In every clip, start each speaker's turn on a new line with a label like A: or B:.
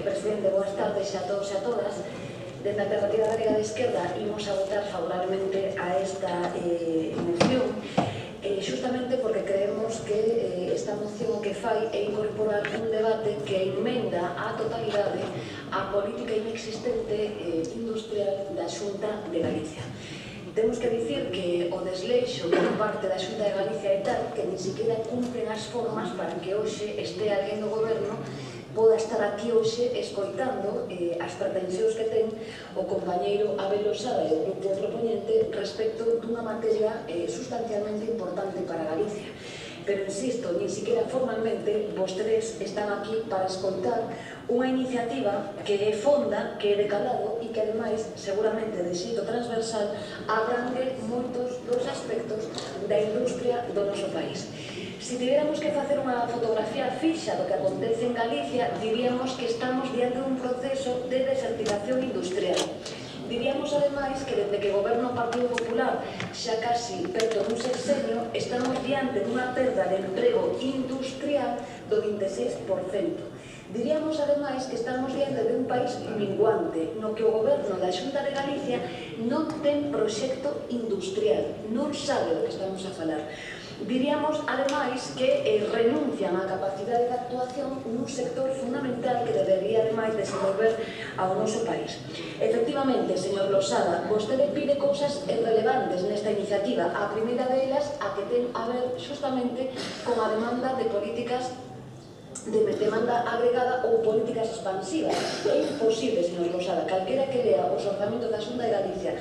A: Presidente, boas tardes a todos e a todas. Dende a Alternativa Galega de Esquerda imos a votar favorablemente a esta moción, justamente porque creemos que esta moción que fai é incorporar un debate que enmenda á totalidade a política inexistente industrial da Xunta de Galicia. Temos que dicir que o desleixo por parte da Xunta de Galicia é tal que ni siquiera cumplen as formas para que hoxe este alguén do goberno poda estar aquí hoxe escoitando as pretensións que ten o compañeiro Abel Losada e o grupo proponente respecto dunha materia sustancialmente importante para Galicia. Pero, insisto, ni siquiera formalmente vostedes están aquí para escoitar unha iniciativa que é fonda, que é de calado e que, ademais, seguramente de xeito transversal, abrangue moitos dos aspectos da industria do noso país. Se tiveramos que facer unha fotografía fixa do que acontece en Galicia, diríamos que estamos diante dun proceso de desertización industrial. Diríamos, ademais, que desde que goberna o Partido Popular xa casi perto dun sexenio, estamos diante dunha perda de emprego industrial do 26%. Diríamos, ademais, que estamos diante de un país minguante, no que o goberno da Xunta de Galicia non ten proxecto industrial, non sabe do que estamos a falar. Diríamos, ademais, que renuncian á capacidade de actuación nun sector fundamental que debería, ademais, desenvolver ao noso país. Efectivamente, señor Losada, vostede pide cousas relevantes nesta iniciativa. A primeira delas, a que ten a ver justamente con a demanda de políticas de demanda agregada ou políticas expansivas. É imposible, señor Losada, calquera que lea os orzamentos da Xunta de Galicia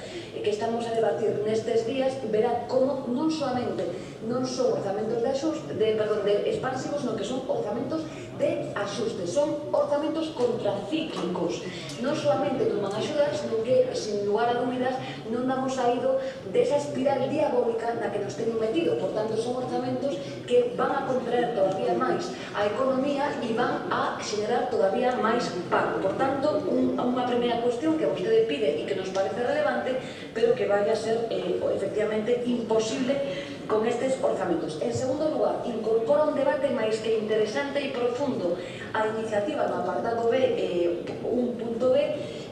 A: que estamos a debatir nestes días, verá como non solamente non son orzamentos de expansivos, no que son orzamentos de axuste, son orzamentos contracíclicos. Non solamente non van a axudar, sino que, sin lugar a dúbidas, non damos saído desa espiral diabólica na que nos teñen metido. Por tanto, son orzamentos que van a contraer todavía máis a economía e van a xenerar todavía máis paro. Por tanto, unha primeira cuestión que vostede pide e que nos parece relevante, pero que vai a ser efectivamente imposible con estes orzamentos. En segundo lugar, incorpora un debate máis que interesante e profundo a iniciativa no apartado B, 1.b,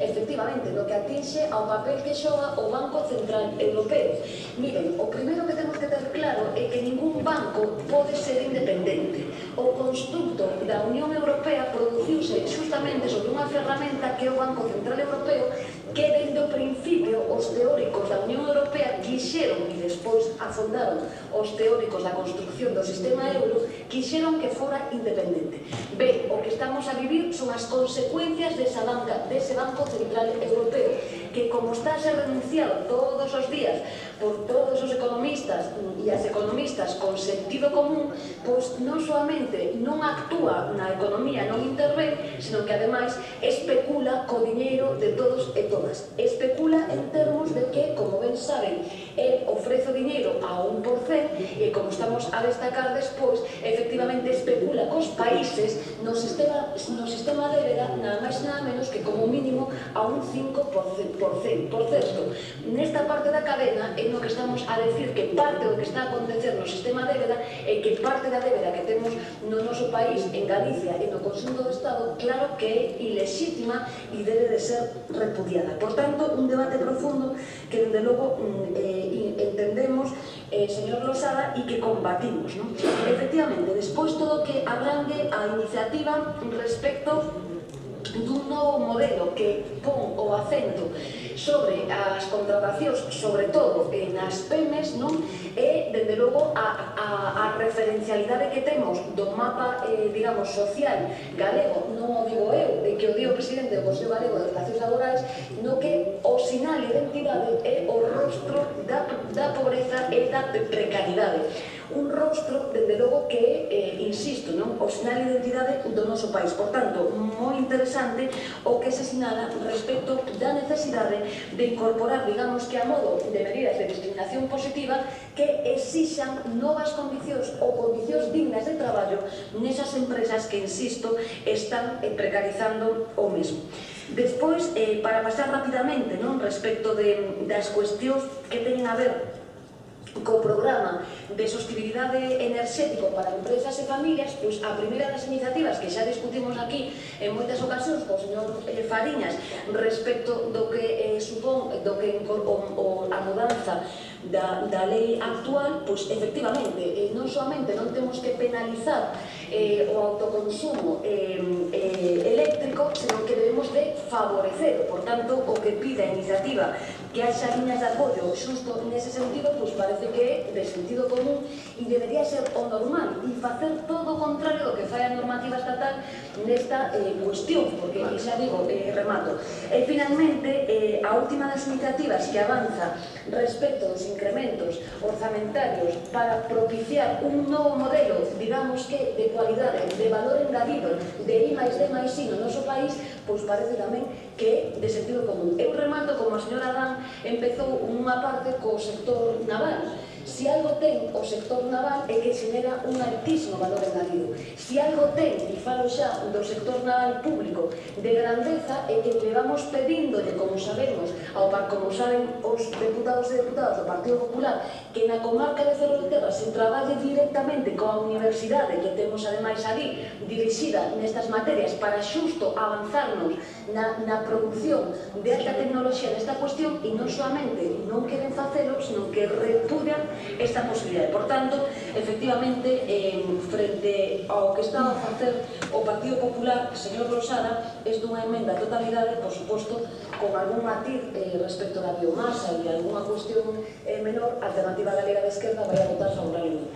A: efectivamente, no que atinxe ao papel que xoga o Banco Central Europeo. Miren, o primeiro que temos que ter claro é que ningún banco pode ser independente. O constructo da Unión Europea produciuse justamente sobre unha ferramenta que é o Banco Central Europeo, que dende o principio os teóricos da Unión Europea quixeron, e despois afondaron os teóricos da construcción do sistema euro, quixeron que fora independente. Ben, o que estamos a vivir son as consecuencias dese Banco Central Europeo, que como está a ser renunciado todos os días por todos os economistas e as economistas con sentido común, pois non solamente non actúa na economía, non intervén, sino que ademais especula co diñeiro de todos e todas. Especula en termos de que, como ben saben, el ofrece o diñeiro a 1% e, como estamos a destacar despois, efectivamente especula cos países no sistema débeda nada máis nada menos que como mínimo a un 5%. Por certo, nesta parte da cadena é no que estamos a decir que parte do que está a acontecer no sistema débeda é que parte da débeda que temos no noso país, en Galicia e no conxunto do Estado, claro que é ilexítima e debe de ser repudiada. Por tanto, un debate profundo que, dende logo, entendemos, señor Losada, e que combatimos. Efectivamente, despois todo o que abrangue a iniciativa respecto dun novo modelo que pon o acento sobre as contratacións, sobre todo nas PEMES, e, dende logo, a referencialidade que temos do mapa, digamos, social galego, non o digo eu, que o di o presidente do Consello Galego de Relacións Laborais, no que o sinal de identidade é o rostro da pobreza e da precariedade. Un rostro, dende logo, que é, insisto, o sinal de identidade do noso país. Por tanto, moi interesante o que se sinala respecto da necesidade de incorporar, digamos que a modo de medidas de discriminación positiva que exixan novas condicións ou condicións dignas de traballo nesas empresas que, insisto, están precarizando o mesmo. Despois, para pasar rapidamente respecto das cuestións que teñen a ver co programa de sostibilidade enerxético para empresas e familias, pois a primeira das iniciativas que xa discutimos aquí en moitas ocasións co señor Fariñas respecto do que supón a mudanza da lei actual, pois efectivamente non solamente non temos que penalizar o autoconsumo eléctrico, senón que debemos de favorecer. Por tanto, o que pide a iniciativa que haxa liñas de apoio xusto nese sentido, pois parece que é de sentido común e debería ser o normal e facer todo o contrario do que fai a normativa estatal nesta cuestión, porque, xa digo, remato. E finalmente, a última das iniciativas que avanza respecto dos incrementos orzamentarios para propiciar un novo modelo, digamos que de cualidade, de valor engadido, de I máis D máis I no noso país, pois parece tamén que é de sentido común. Eu remato, como a señora Adán empezou unha parte co sector naval. Si algo ten o sector naval é que xenera un altísimo valor engadido. Si algo ten, e falo xa do sector naval público, de grandeza, é que levamos pedíndole, como sabemos, como saben os deputados e deputadas do Partido Popular, que na comarca de Ferrolterra se traballe directamente coa universidade que temos ademais ali dirixida nestas materias para xusto avanzarnos na produción de alta tecnoloxía nesta cuestión, e non solamente non queren facelo, senón que repudian esta posibilidade. Por tanto, efectivamente, frente ao que está a facer o Partido Popular, señor Losada, é dunha emenda a totalidade, por suposto, con algún matiz respecto da biomasa e alguna cuestión menor, a Alternativa Galega de Esquerda vai a votar favorablemente.